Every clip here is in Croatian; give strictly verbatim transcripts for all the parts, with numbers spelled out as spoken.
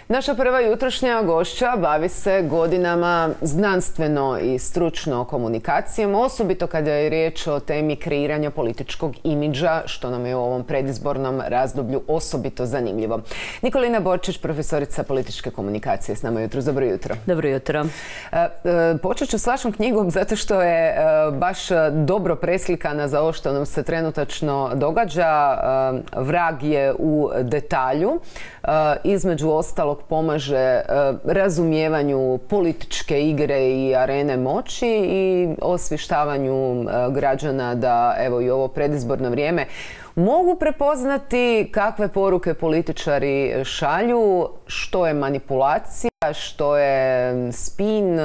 Naša prva jutrošnja gošća bavi se godinama znanstveno i stručno komunikacijom, osobito kada je riječ o temi kreiranja političkog imidža, što nam je u ovom predizbornom razdoblju osobito zanimljivo. Nikolina Borčić, profesorica političke komunikacije, s nama jutros. Dobro jutro. Dobro jutro. Počet ću s vašom knjigom zato što je baš dobro preslikana za ovo što nam se trenutačno događa. Vrag je u detalju. Između ostalog pomaže razumijevanju političke igre i arene moći i osvještavanju građana da evo i ovo predizborno vrijeme mogu prepoznati kakve poruke političari šalju, što je manipulacija, što je spin,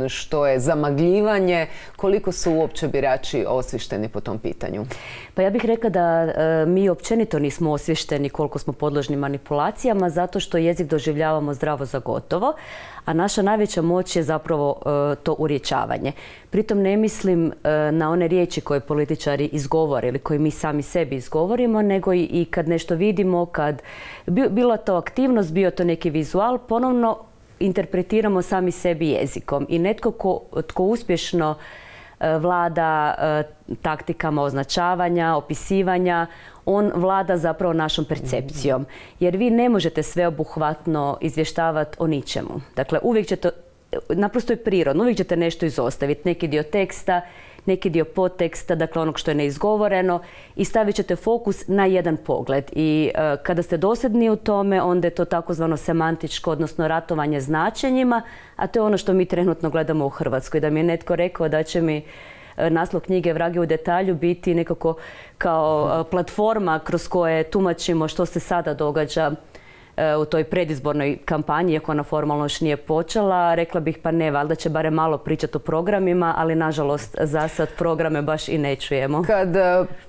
što je zamagljivanje, koliko su uopće birači osviješteni po tom pitanju? Pa ja bih rekla da e, mi općenito nismo osviješteni koliko smo podložni manipulacijama, zato što jezik doživljavamo zdravo za gotovo, a naša najveća moć je zapravo e, to urječavanje. Pritom ne mislim e, na one riječi koje političari izgovore ili koje mi sami sebi izgovorimo, nego i, i kad nešto vidimo, kad bi, bila to aktivnost, bio to neki vizual, ponovno interpretiramo sami sebi jezikom. I netko ko, tko uspješno e, vlada e, taktikama označavanja, opisivanja, on vlada zapravo našom percepcijom. Jer vi ne možete sveobuhvatno izvještavati o ničemu. Dakle, uvijek ćete, naprosto je prirodno, uvijek ćete nešto izostaviti. Neki dio teksta, neki dio podteksta, dakle onog što je neizgovoreno, i stavit ćete fokus na jedan pogled. I e, kada ste dosljedni u tome, onda je to takozvano semantičko, odnosno ratovanje značenjima, a to je ono što mi trenutno gledamo u Hrvatskoj. Da mi je netko rekao da će mi naslov knjige Vrag je u detalju biti nekako kao platforma kroz koje tumačimo što se sada događa u toj predizbornoj kampanji, iako ona formalno još nije počela. Rekla bih pa ne, valjda će barem malo pričati o programima, ali nažalost za sad programe baš i ne čujemo. Kad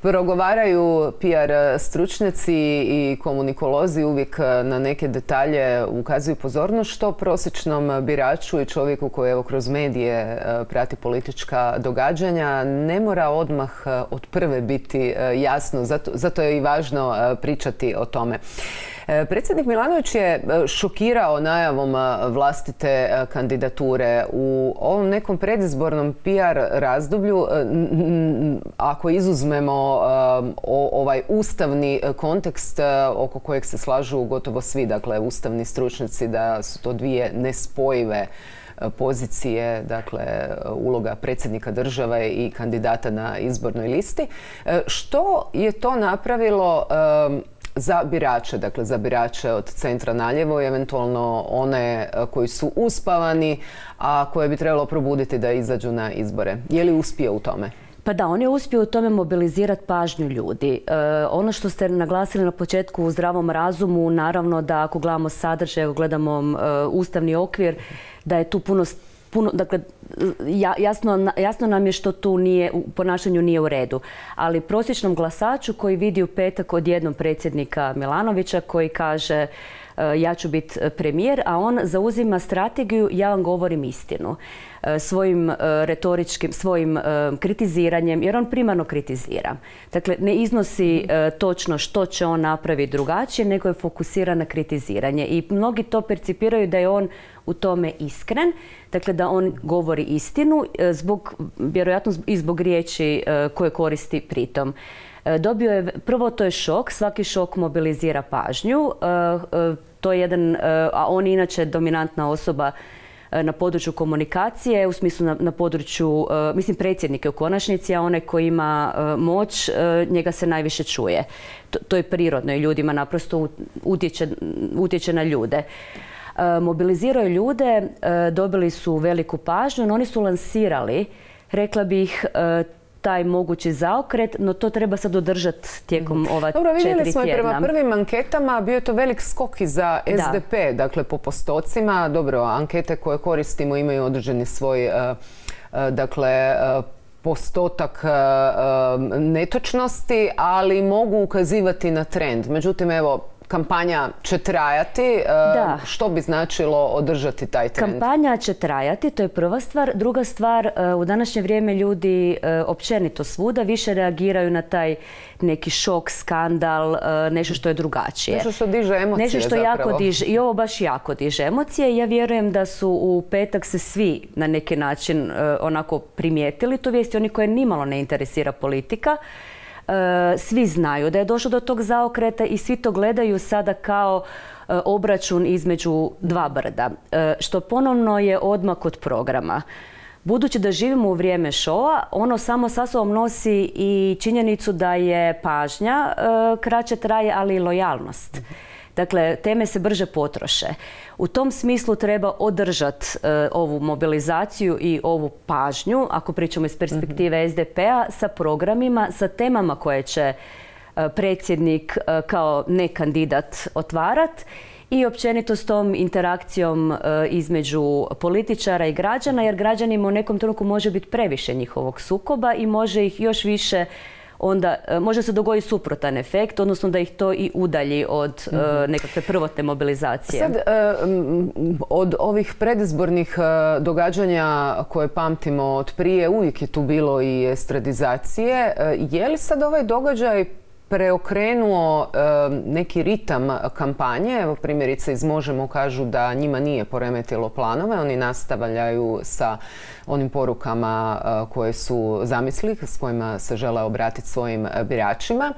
progovaraju P R stručnjaci i komunikolozi uvijek na neke detalje ukazuju pozornost, što prosječnom biraču i čovjeku koji evo kroz medije prati politička događanja ne mora odmah od prve biti jasno, zato, zato je i važno pričati o tome. Predsjednik Milanović je šokirao najavom vlastite kandidature. U ovom nekom predizbornom P R razdoblju, ako izuzmemo ovaj ustavni kontekst oko kojeg se slažu gotovo svi, dakle ustavni stručnjaci, da su to dvije nespojive pozicije, dakle uloga predsjednika države i kandidata na izbornoj listi. Što je to napravilo za birače, dakle za birače od centra naljevo i eventualno one koji su uspavani, a koje bi trebalo probuditi da izađu na izbore? Je li uspio u tome? Pa da, on je uspio u tome mobilizirati pažnju ljudi. E, ono što ste naglasili na početku u zdravom razumu, naravno da ako gledamo sadržaj, ako gledamo e, ustavni okvir, da je tu puno Puno, dakle, jasno, jasno nam je što tu nije, u ponašanju nije u redu. Ali prosječnom glasaču koji vidi u petak odjednom predsjednika Milanovića koji kaže ja ću biti premijer, a on zauzima strategiju ja vam govorim istinu. Svojim retoričkim, svojim kritiziranjem, jer on primarno kritizira. Dakle, ne iznosi točno što će on napraviti drugačije, nego je fokusiran na kritiziranje. I mnogi to percipiraju da je on u tome iskren, dakle da on govori istinu, zbog, vjerojatno i zbog riječi koje koristi pritom. Dobio je, prvo to je šok, svaki šok mobilizira pažnju, to je jedan, a on je inače dominantna osoba na području komunikacije, u smislu na, na području, mislim predsjednike u konačnici, a onaj koji ima moć, njega se najviše čuje. To, to je prirodno i ljudima naprosto utječe, utječe na ljude. Mobiliziraju ljude, dobili su veliku pažnju, no oni su lansirali, rekla bih, taj mogući zaokret, no to treba sad održati tijekom ova četiri tjedna. Dobro, vidjeli smo i prema prvim anketama, bio je to velik skok i za S D P, da. Dakle po postocima. Dobro, ankete koje koristimo imaju određeni svoj, dakle, postotak netočnosti, ali mogu ukazivati na trend. Međutim, evo, kampanja će trajati. Da. Što bi značilo održati taj trend? Kampanja će trajati, to je prva stvar. Druga stvar, u današnje vrijeme ljudi općenito svuda više reagiraju na taj neki šok, skandal, nešto što je drugačije. Nešto što diže emocije Nešto što zapravo. jako diže, i ovo baš jako diže emocije. Ja vjerujem da su u petak se svi na neki način onako primijetili tu vijest, oni koje nimalo ne interesira politika. Svi znaju da je došlo do tog zaokreta i svi to gledaju sada kao obračun između dva brda, što ponovno je odmak od programa. Budući da živimo u vrijeme šoa, ono samo sa sobom nosi i činjenicu da je pažnja kraće traje, ali i lojalnost. Dakle, teme se brže potroše. U tom smislu treba održati e, ovu mobilizaciju i ovu pažnju, ako pričamo iz perspektive mm-hmm. S D P-a, sa programima, sa temama koje će e, predsjednik e, kao nekandidat otvarat i općenito s tom interakcijom e, između političara i građana, jer građanima u nekom trenutku može biti previše njihovog sukoba i može ih još više onda može se dogoditi suprotan efekt, odnosno da ih to i udalji od mm-hmm. uh, nekakve prvotne mobilizacije. Sad, uh, od ovih predizbornih uh, događanja koje pamtimo od prije, uvijek je tu bilo i estradizacije. Uh, je li sad ovaj događaj preokrenuo uh, neki ritam kampanje? Evo, primjerice iz Možemo kažu da njima nije poremetilo planove, oni nastavljaju sa onim porukama uh, koje su zamisli, s kojima se žele obratiti svojim biračima.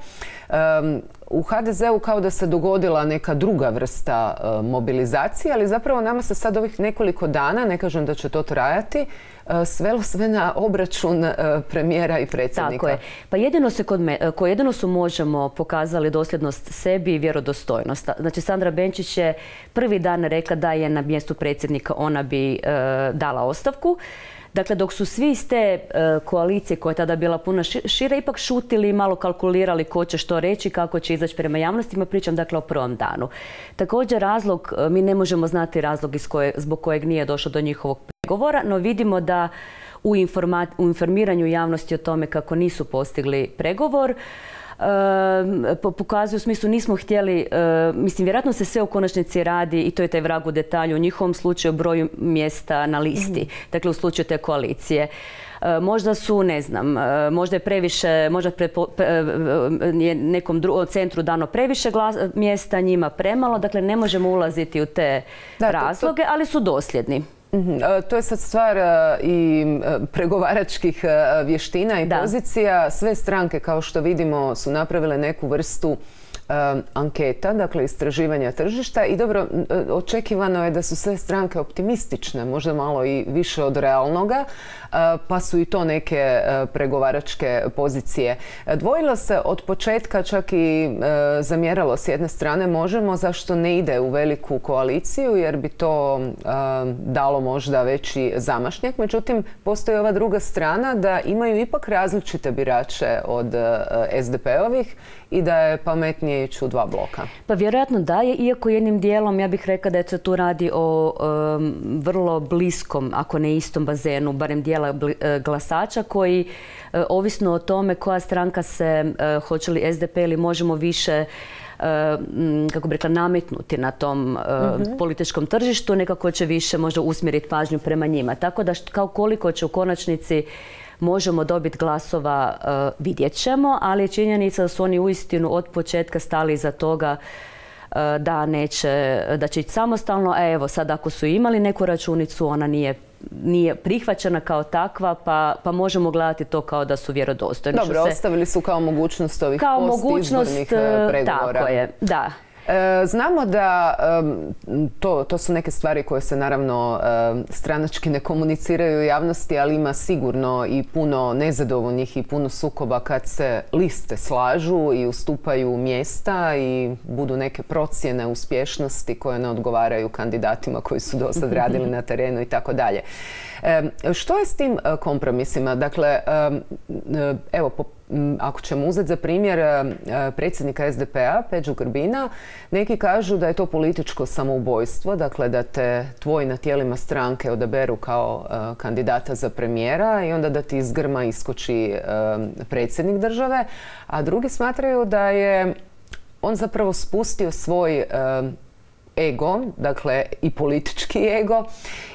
Um, u ha de ze u kao da se dogodila neka druga vrsta uh, mobilizacije, ali zapravo nama se sad ovih nekoliko dana, ne kažem da će to trajati, uh, svelo sve na obračun uh, premijera i predsjednika. Tako je. Pa jedino, se kod me, ko jedino su Možemo pokazali dosljednost sebi i vjerodostojnost. Znači, Sandra Benčić je prvi dan rekla da je na mjestu predsjednika ona bi uh, dala ostavku. Dakle, dok su svi iz te uh, koalicije koja je tada bila puno šire, ipak šutili i malo kalkulirali ko će što reći, kako će izaći prema javnostima, pričam dakle o prvom danu. Također razlog, uh, mi ne možemo znati razlog iz koje, zbog kojeg nije došlo do njihovog pregovora, no vidimo da u, informa, u informiranju javnosti o tome kako nisu postigli pregovor, Uh, pokazuju u smislu nismo htjeli, uh, mislim vjerojatno se sve u konačnici radi i to je taj vrag u detalju, u njihovom slučaju broju mjesta na listi, mm-hmm. dakle u slučaju te koalicije. Uh, možda su, ne znam, uh, možda je previše, možda prepo, pre, uh, je nekom dru, centru dano previše glas, mjesta, njima premalo, dakle ne možemo ulaziti u te da, razloge, to, to... ali su dosljedni. Mm-hmm. To je sad stvar i pregovaračkih vještina i da. pozicija. Sve stranke, kao što vidimo, su napravile neku vrstu anketa, dakle istraživanja tržišta i dobro, očekivano je da su sve stranke optimistične, možda malo i više od realnoga, pa su i to neke pregovaračke pozicije. Dvojilo se od početka, čak i zamjeralo s jedne strane Možemo zašto ne ide u veliku koaliciju, jer bi to dalo možda veći zamašnjak. Međutim, postoji ova druga strana da imaju ipak različite birače od es de pe-ovih i da je pametnije ići u dva bloka. Pa vjerojatno da je, iako jednim dijelom ja bih rekla da se tu radi o um, vrlo bliskom, ako ne istom bazenu, barem dijela glasača koji, uh, ovisno o tome koja stranka se, uh, hoće li es de pe ili Možemo više Uh, kako bi rekla, nametnuti na tom uh, mm-hmm. političkom tržištu, nekako će više možda usmjeriti pažnju prema njima. Tako da kao koliko će u konačnici Možemo dobiti glasova, uh, vidjet ćemo, ali je činjenica da su oni uistinu od početka stali iza toga uh, da neće, da će ići samostalno. A evo sad ako su imali neku računicu, ona nije nije prihvaćena kao takva, pa, pa možemo gledati to kao da su vjerodostojni. Dobro, se... ostavili su kao mogućnost ovih postizbornih pregovora. Tako je, da. Znamo da to, to su neke stvari koje se naravno stranački ne komuniciraju u javnosti, ali ima sigurno i puno nezadovoljnih i puno sukoba kad se liste slažu i ustupaju mjesta i budu neke procjene uspješnosti koje ne odgovaraju kandidatima koji su do sad radili na terenu i tako dalje. Što je s tim kompromisima? Dakle, evo, po ako ćemo uzeti za primjer predsjednika es de pe-a, Peđu Grbina, neki kažu da je to političko samoubojstvo, dakle da te tvoji na tijelima stranke odaberu kao uh, kandidata za premijera i onda da ti iz grma iskoči uh, predsjednik države, a drugi smatraju da je on zapravo spustio svoj ego, dakle i politički ego,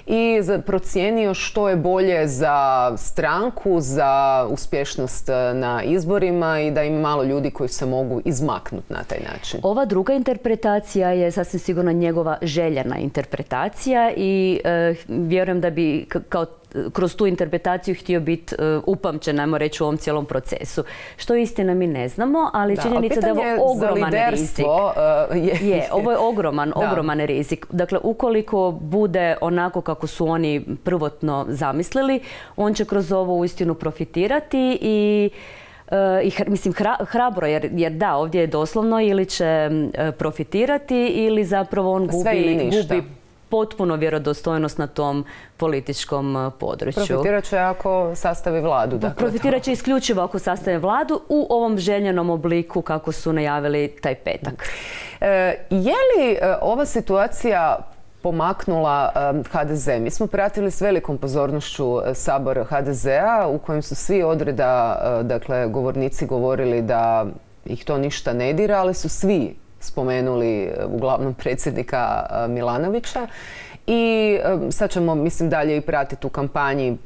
i procijenio što je bolje za stranku, za uspješnost na izborima i da ima malo ljudi koji se mogu izmaknuti na taj način. Ova druga interpretacija je sasvim sigurno njegova željena interpretacija i e, vjerujem da bi kao kroz tu interpretaciju htio biti uh, upamćen, ajmo reći, u ovom cijelom procesu. Što istina mi ne znamo, ali da, činjenica da je ovo ogroman rizik. Uh, je, je, ovo je ogroman, ogroman rizik. Dakle, ukoliko bude onako kako su oni prvotno zamislili, on će kroz ovo uistinu profitirati i Uh, i mislim hra, hrabro jer, jer da, ovdje je doslovno ili će uh, profitirati ili zapravo on gubi, gubi potpuno vjerodostojnost na tom političkom području. Profitirat će ako sastavi vladu. Dakle, Profitirat će isključivo ako sastavi vladu u ovom željenom obliku kako su najavili taj petak. E, je li ova situacija pomaknula H D Z? Mi smo pratili s velikom pozornošću sabor H D Z-a u kojem su svi odreda, dakle, govornici govorili da ih to ništa ne dira, ali su svi spomenuli uglavnom predsjednika Milanovića. I sad ćemo, mislim, dalje i pratiti u kampanji.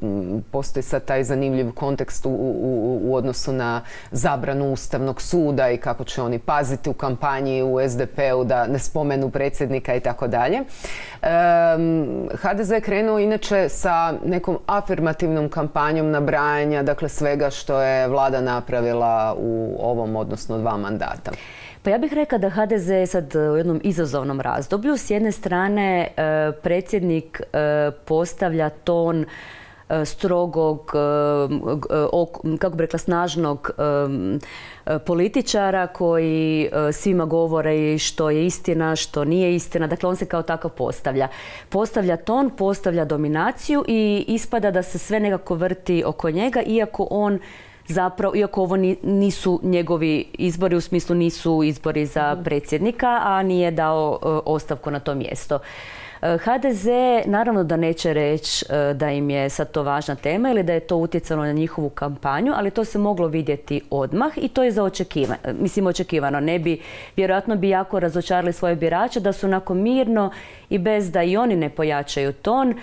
Postoji sad taj zanimljiv kontekst u, u, u odnosu na zabranu Ustavnog suda i kako će oni paziti u kampanji u S D P-u da ne spomenu predsjednika i tako dalje. H D Z je krenuo inače sa nekom afirmativnom kampanjom nabrajanja, dakle, svega što je vlada napravila u ovom, odnosno dva mandata. Pa ja bih rekla da H D Z je sad u jednom izazovnom razdoblju. S jedne strane, predsjednik postavlja ton strogog, kako bi rekla, snažnog političara koji svima govore što je istina, što nije istina. Dakle, on se kao takav postavlja. Postavlja ton, postavlja dominaciju i ispada da se sve nekako vrti oko njega, iako on zapravo, iako ovo nisu njegovi izbori, u smislu nisu izbori za predsjednika, a nije dao ostavku na to mjesto. H D Z naravno da neće reći da im je sad to važna tema ili da je to utjecalo na njihovu kampanju, ali to se moglo vidjeti odmah i to je za očekivano. Mislim, očekivano. Ne bi, vjerojatno bi jako razočarali svoje birače da su onako mirno i bez da i oni ne pojačaju ton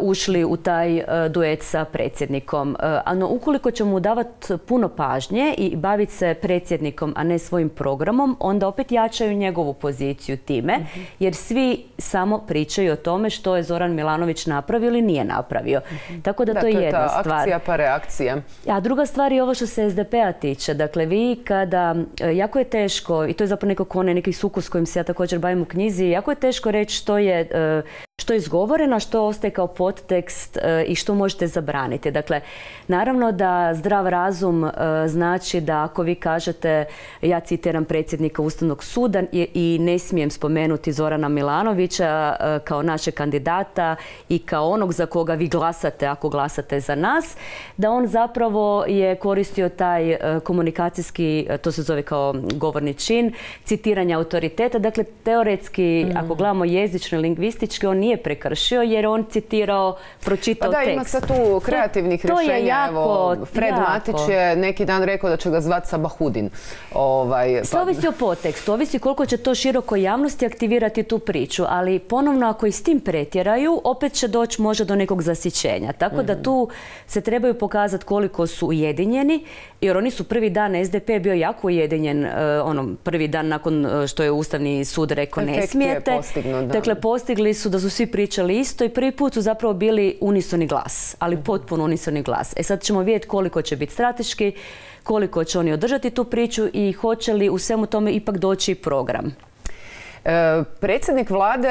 ušli u taj duet sa predsjednikom. No, ukoliko ćemo mu davati puno pažnje i baviti se predsjednikom, a ne svojim programom, onda opet jačaju njegovu poziciju time, jer svi samo pričaju o tome što je Zoran Milanović napravio ili nije napravio. Tako da, da to je jedna stvar. To je ta akcija pa reakcija. A druga stvar je ovo što se S D P-a tiče. Dakle, vi kada, jako je teško, i to je zapravo nekako onaj neki sukus s kojim se ja također bavim u knjizi, jako je teško reći što je što je izgovoreno, što ostaje kao podtekst e, i što možete zabraniti. Dakle, naravno da zdrav razum e, znači da ako vi kažete, ja citiram predsjednika Ustavnog suda i, i ne smijem spomenuti Zorana Milanovića e, kao našeg kandidata i kao onog za koga vi glasate ako glasate za nas, da on zapravo je koristio taj e, komunikacijski, e, to se zove kao govorni čin, citiranja autoriteta. Dakle, teoretski, mm. ako gledamo jezično i lingvistički, on nije prekršio jer on citirao, pročitao tekst. Pa da, tekst. ima sad tu kreativnih to, to rješenja. Jako, Evo, Fred jako. Matić je neki dan rekao da će ga zvati Sabahudin. Ovaj, Sve pa... ovisi o podtekstu, ovisi koliko će to široko javnosti aktivirati tu priču, ali ponovno ako i s tim pretjeraju, opet će doći možda do nekog zasićenja. Tako mm-hmm. da tu se trebaju pokazati koliko su ujedinjeni, jer oni su prvi dan, S D P bio jako ujedinjen, uh, ono, prvi dan nakon što je Ustavni sud rekao ne smijete. Postignu, da. Dakle, postigli su da su svi pričali isto i prvi put su zapravo bili unisoni glas, ali potpuno unisoni glas. E sad ćemo vidjeti koliko će biti strateški, koliko će oni održati tu priču i hoće li u svemu tome ipak doći program. E, predsjednik vlade,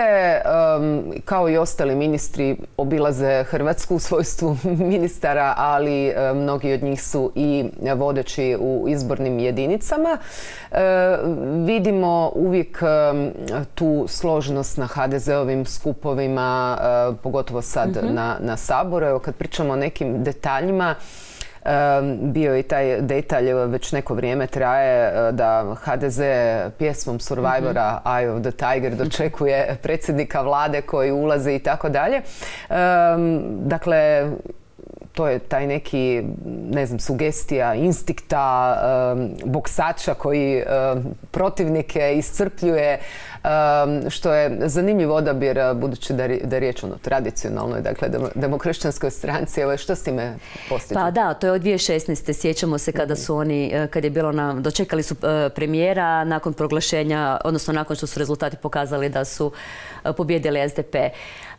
um, kao i ostali ministri, obilaze Hrvatsku u svojstvu ministara, ali e, mnogi od njih su i vodeći u izbornim jedinicama. E, vidimo uvijek e, tu složenost na ha de ze-ovim skupovima, e, pogotovo sad mm-hmm. na, na Saboru. Evo, kad pričamo o nekim detaljima, bio je i taj detalj, već neko vrijeme traje, da ha de ze pjesmom Survivora mm-hmm. Eye of the Tiger dočekuje predsjednika vlade koji ulazi i tako dalje. Dakle, to je taj neki, ne znam, sugestija, instinkta boksača koji protivnike iscrpljuje, što je zanimljiv odabir, budući da je riječ o tradicionalnoj, dakle, demokršćanskoj stranci. Evo, što s time postižu? Pa da, to je od dvije tisuće šesnaeste. Sjećamo se kada su oni, kad je bilo na, dočekali su premijera nakon proglašenja, odnosno nakon što su rezultati pokazali da su pobjedili S D P.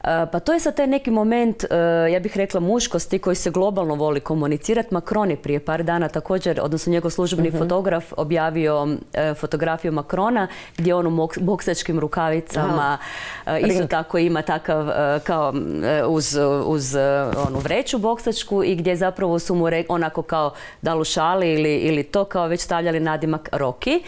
Pa to je sad taj neki moment, ja bih rekla, muškosti koji se globalno voli komunicirati. Macron je prije par dana također, odnosno njegov službeni uh-huh. fotograf, objavio fotografiju Macrona gdje on u boksačkim rukavicama Aha. isto Ring. tako ima takav kao uz, uz onu vreću boksačku i gdje zapravo su mu re, onako kao da li u šali ili, ili to kao već stavljali nadimak Rocky.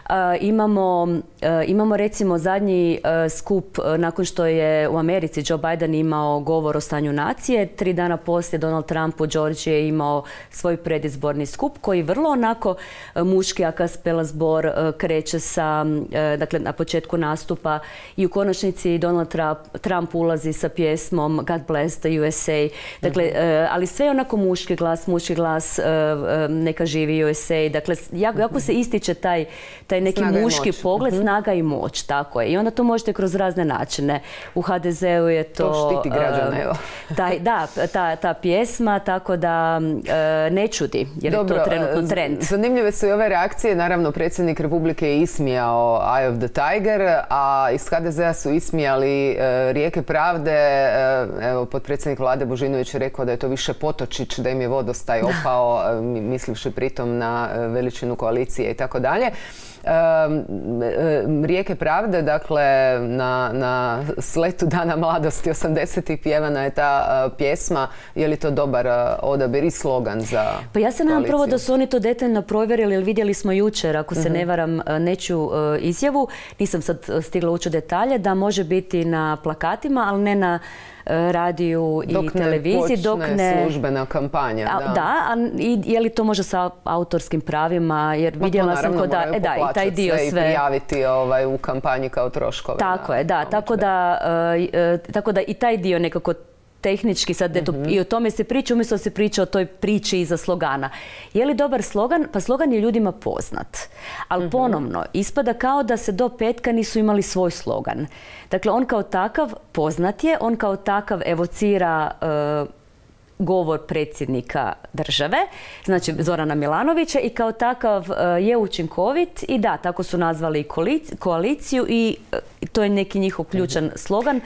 Uh, imamo, uh, imamo recimo zadnji uh, skup uh, nakon što je u Americi Joe Biden imao govor o stanju nacije. Tri dana poslije Donald Trump u Georgiji je imao svoj predizborni skup koji vrlo onako uh, muški a kaspela zbor uh, kreće sa, uh, dakle na početku nastupa i u konačnici Donald Trump, Trump ulazi sa pjesmom God Bless the U S A. Dakle, uh-huh. uh, ali sve je onako muški glas, muški glas, uh, uh, neka živi U S A. Dakle, jako, jako se ističe taj, taj neki snaga muški pogled, uh-huh. snaga i moć, tako je. I onda to možete kroz razne načine. U H D Z-u je to... To štiti građane, evo. Taj, da, ta, ta pjesma, tako da uh, ne čudi, jer Dobro, je to trenutno trend. Zanimljive su i ove reakcije. Naravno, predsjednik Republike je ismijao Eye of the Tiger, a iz H D Z-a su ismijali uh, Rijeke pravde. Uh, evo, potpredsjednik vlade Božinović je rekao da je to više potočić, da im je vodostaj opao, uh, mislivši pritom na uh, veličinu koalicije i tako dalje. Rijeke pravde, dakle, na, na sletu Dana mladosti osamdesetih pjevana je ta uh, pjesma. Je li to dobar uh, odabir i slogan za Pa ja se nadam prvo da su oni to detaljno provjerili, jer vidjeli smo jučer, ako se uh-huh. ne varam, nečiju uh, izjavu, nisam sad stigla ući u detalje, da može biti na plakatima, ali ne na radiju i dok televiziji. Ne dok ne službena kampanja. A, da, da a i je li to može sa autorskim pravima? Jer Ma vidjela to, sam kod da, e, da i taj dio sve. I prijaviti ovaj, u kampanji kao troškove. Tako je, da. Tako da, uh, tako da i taj dio nekako tehnički sad eto, uh-huh. i o tome se priča, umjesto da se priča o toj priči iza slogana. Je li dobar slogan? Pa slogan je ljudima poznat. Ali uh-huh. ponovno, ispada kao da se do petka nisu imali svoj slogan. Dakle, on kao takav poznat je, on kao takav evocira uh, govor predsjednika države, znači Zorana Milanovića, i kao takav uh, je učinkovit i da, tako su nazvali koaliciju i uh, to je neki njihov ključan uh-huh. slogan.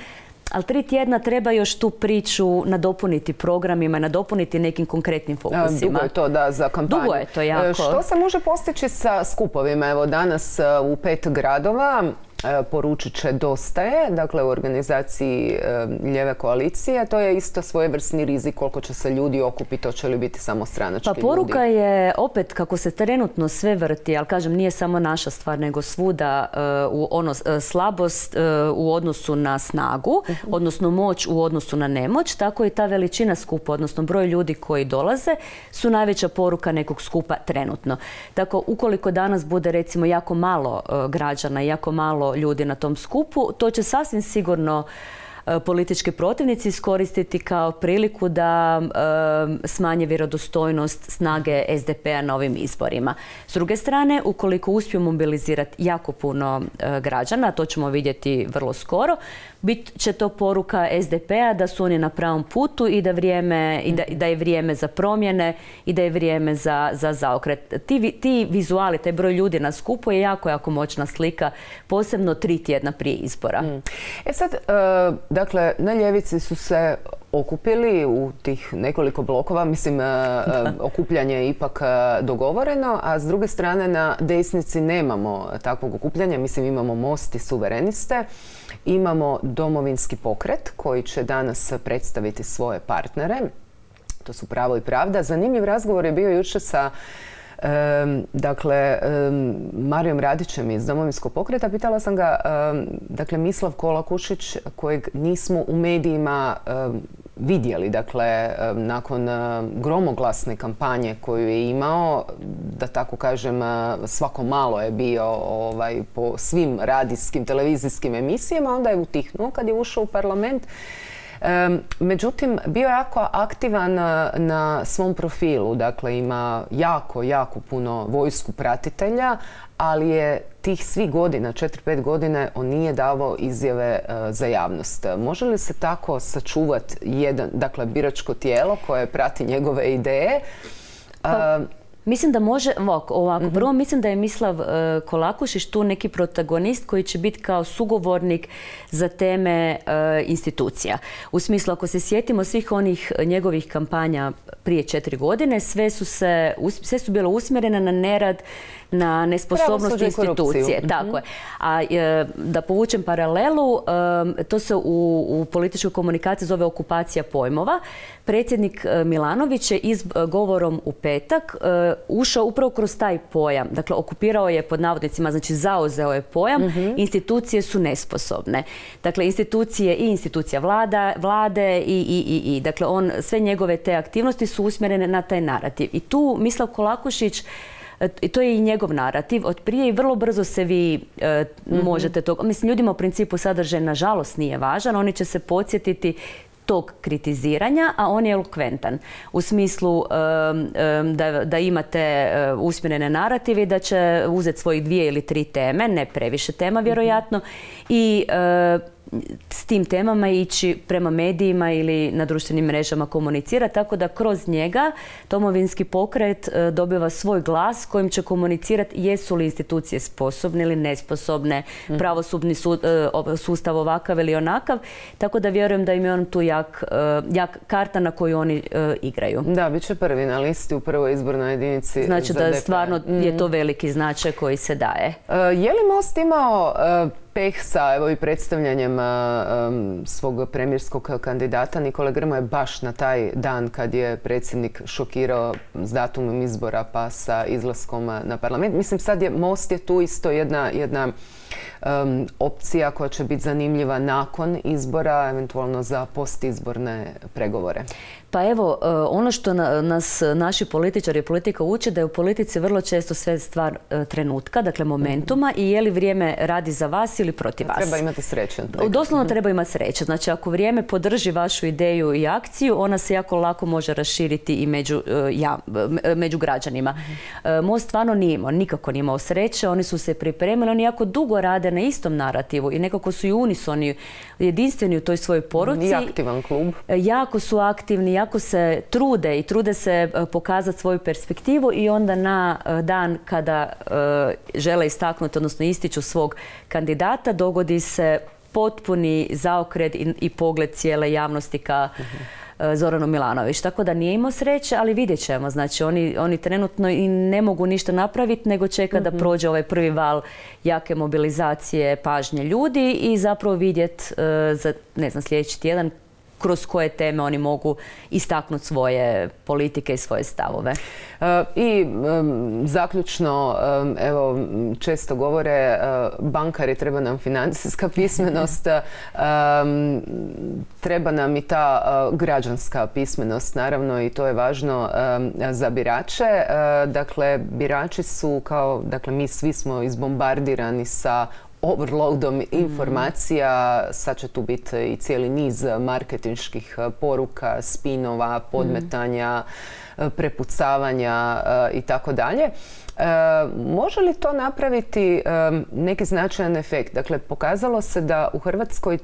Ali tri tjedna treba još tu priču nadopuniti programima, nadopuniti nekim konkretnim fokusima. Dugo je to, da, za kampanju. Dugo je to jako. Što se može postići sa skupovima? Evo, danas u pet gradova poručit će Dosta je, dakle u organizaciji Lijeve koalicije. To je isto svojevrsni rizik koliko će se ljudi okupiti, hoće li biti samo stranački ljudi. Pa poruka ljudi. je opet kako se trenutno sve vrti, ali kažem nije samo naša stvar nego svuda uh, u ono, uh, slabost uh, u odnosu na snagu, uh-huh. odnosno moć u odnosu na nemoć, tako i ta veličina skupa, odnosno broj ljudi koji dolaze su najveća poruka nekog skupa trenutno. Tako ukoliko danas bude recimo jako malo uh, građana, jako malo ljudi na tom skupu, to će sasvim sigurno e, politički protivnici iskoristiti kao priliku da e, smanje vjerodostojnost snage S D P-a na ovim izborima. S druge strane, ukoliko uspiju mobilizirati jako puno e, građana, to ćemo vidjeti vrlo skoro, bit će to poruka S D P-a da su oni na pravom putu i da, vrijeme, i da, da je vrijeme za promjene i da je vrijeme za, za zaokret. Ti, ti vizuali, taj broj ljudi na skupu je jako, jako moćna slika, posebno tri tjedna prije izbora. Mm. E sad, uh, dakle, na ljevici su se okupili u tih nekoliko blokova, mislim, uh, okupljanje je ipak uh, dogovoreno, a s druge strane na desnici nemamo takvog okupljanja, mislim, imamo Most i Suvereniste. Imamo Domovinski pokret koji će danas predstaviti svoje partnere. To su Pravo i pravda. Zanimljiv razgovor je bio jučer sa um, dakle, um, Marijom Radićem iz Domovinskog pokreta. Pitala sam ga, um, dakle, Mislav Kolakušić, kojeg nismo u medijima um, vidjeli, dakle, um, nakon uh, gromoglasne kampanje koju je imao, da tako kažem, uh, svako malo je bio ovaj, po svim radijskim, televizijskim emisijama, onda je utihnuo kad je ušao u parlament. Međutim, bio je jako aktivan na svom profilu. Dakle, ima jako, jako puno vojsku pratitelja, ali je tih svih godina, četiri pet godine, on nije davao izjave za javnost. Može li se tako sačuvati jedan, dakle, biračko tijelo koje prati njegove ideje? Pa, mislim da može, ovako, prvo mm-hmm. mislim da je Mislav uh, Kolakušić tu neki protagonist koji će biti kao sugovornik za teme uh, institucija. U smislu, ako se sjetimo svih onih njegovih kampanja prije četiri godine, sve su, se, sve su bilo usmjerene na nerad, na nesposobnost institucije. Mm-hmm. Tako je. A e, da povučem paralelu, e, to se u, u političkoj komunikaciji zove okupacija pojmova. Predsjednik Milanović je iz govorom u petak e, ušao upravo kroz taj pojam. Dakle, okupirao je pod navodnicima, znači zauzeo je pojam, mm-hmm. institucije su nesposobne. Dakle, institucije i institucija vlada, vlade i, i, i, i. Dakle, on, sve njegove te aktivnosti su usmjerene na taj narativ. I tu Mislav Kolakušić, i to je i njegov narativ, od prije i vrlo brzo se vi e, mm-hmm. možete to... Mislim, ljudima u principu sadržaj nažalost nije važan, oni će se podsjetiti tog kritiziranja, a on je elokventan. U smislu um, um, da, da imate uh, usmjerene narative i da će uzeti svojih dvije ili tri teme, ne previše tema vjerojatno, mm-hmm. i uh, s tim temama ići prema medijima ili na društvenim mrežama komunicira, tako da kroz njega Domovinski pokret uh, dobiva svoj glas kojim će komunicirati jesu li institucije sposobne ili nesposobne, mm-hmm. pravosudni su, uh, sustav ovakav ili onakav, tako da vjerujem da im je on tu jak, uh, jak karta na koju oni uh, igraju. Da, bit će prvi na listi u prvoj izbornoj jedinici. Znači za da D P. stvarno mm-hmm. je to veliki značaj koji se daje. Uh, je li Most imao uh, peh sa evo, i predstavljanjem um, svog premijerskog kandidata Nikole Grmoje baš na taj dan kad je predsjednik šokirao s datumom izbora pa sa izlaskom na parlament? Mislim, sad je Most je tu isto jedna, jedna um, opcija koja će biti zanimljiva nakon izbora, eventualno za postizborne pregovore. Pa evo, ono što nas naši političari i politika uče da je u politici vrlo često sve stvar trenutka, dakle momentuma, mm-hmm. i je li vrijeme radi za vas ili protiv vas. Treba imati sreće. Doslovno treba imati sreće. Znači, ako vrijeme podrži vašu ideju i akciju, ona se jako lako može raširiti i među, ja, među građanima. Mm-hmm. Most stvarno nije imao, nikako nije imao sreće, oni su se pripremili, oni jako dugo rade na istom narativu i nekako su i unisoni, jedinstveni u toj svojoj poruci. I aktivan klub. Jako su aktivni, jako se trude i trude se pokazati svoju perspektivu i onda na dan kada žele istaknuti, odnosno ističu svog kandidata, dogodi se potpuni zaokret i, i pogled cijele javnosti ka uh-huh. Zoranu Milanović. Tako da nije imao sreće, ali vidjet ćemo. Znači, oni, oni trenutno i ne mogu ništa napraviti, nego čeka uh-huh. da prođe ovaj prvi val jake mobilizacije pažnje ljudi i zapravo vidjet uh, za, ne znam, sljedeći tjedan kroz koje teme oni mogu istaknuti svoje politike i svoje stavove. Uh, I um, zaključno, um, evo, često govore uh, bankari, treba nam financijska pismenost, um, treba nam i ta uh, građanska pismenost, naravno, i to je važno um, za birače. Uh, dakle, birači su kao, dakle, mi svi smo izbombardirani sa overloadom informacija, sad će tu biti i cijeli niz marketinških poruka, spinova, podmetanja, prepucavanja i tako dalje. Može li to napraviti neki značajan efekt? Dakle, pokazalo se da u Hrvatskoj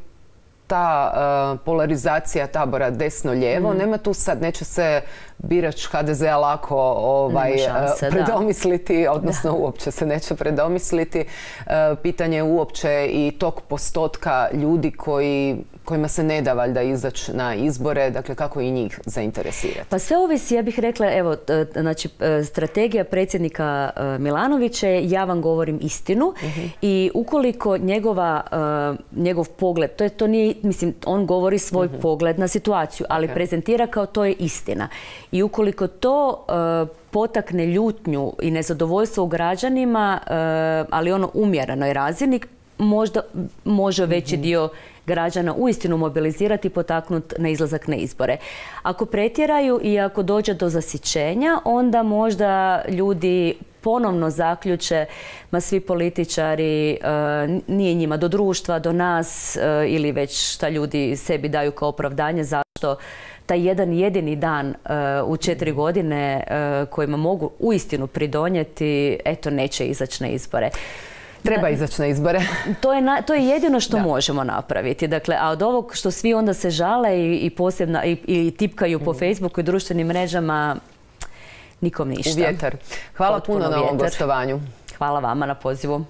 ta uh, polarizacija tabora desno-lijevo, mm. nema tu sad, neće se birač ha de zea lako ovaj, šanse, uh, predomisliti, da. odnosno da. uopće se neće predomisliti. Uh, pitanje je uopće i tog postotka ljudi koji, kojima se ne da valjda izaći na izbore, dakle kako i njih zainteresirati. Pa sve ovisi, ja bih rekla, evo, znači, strategija predsjednika Milanovića je ja vam govorim istinu mm-hmm. i ukoliko njegova, uh, njegov pogled, to, je, to nije, mislim, on govori svoj mm-hmm. pogled na situaciju, ali okay. prezentira kao to je istina. I ukoliko to uh, potakne ljutnju i nezadovoljstvo u građanima, uh, ali ono umjerenoj razini, možda može veći mm-hmm. dio građana uistinu mobilizirati i potaknuti na izlazak na izbore. Ako pretjeraju i ako dođe do zasićenja, onda možda ljudi ponovno zaključe, ma svi političari, nije njima do društva, do nas ili već šta ljudi sebi daju kao opravdanje zašto taj jedan jedini dan u četiri godine kojima mogu uistinu pridonijeti, eto, neće izaći na izbore. Treba izaći na izbore. To je, na, to je jedino što da. možemo napraviti. Dakle, a od ovog što svi onda se žale i, i posebno i, i tipkaju mm. po Facebooku i društvenim mrežama, nikom ništa. U vjetar. Hvala Potpuno puno na ovom gostovanju. Hvala vama na pozivu.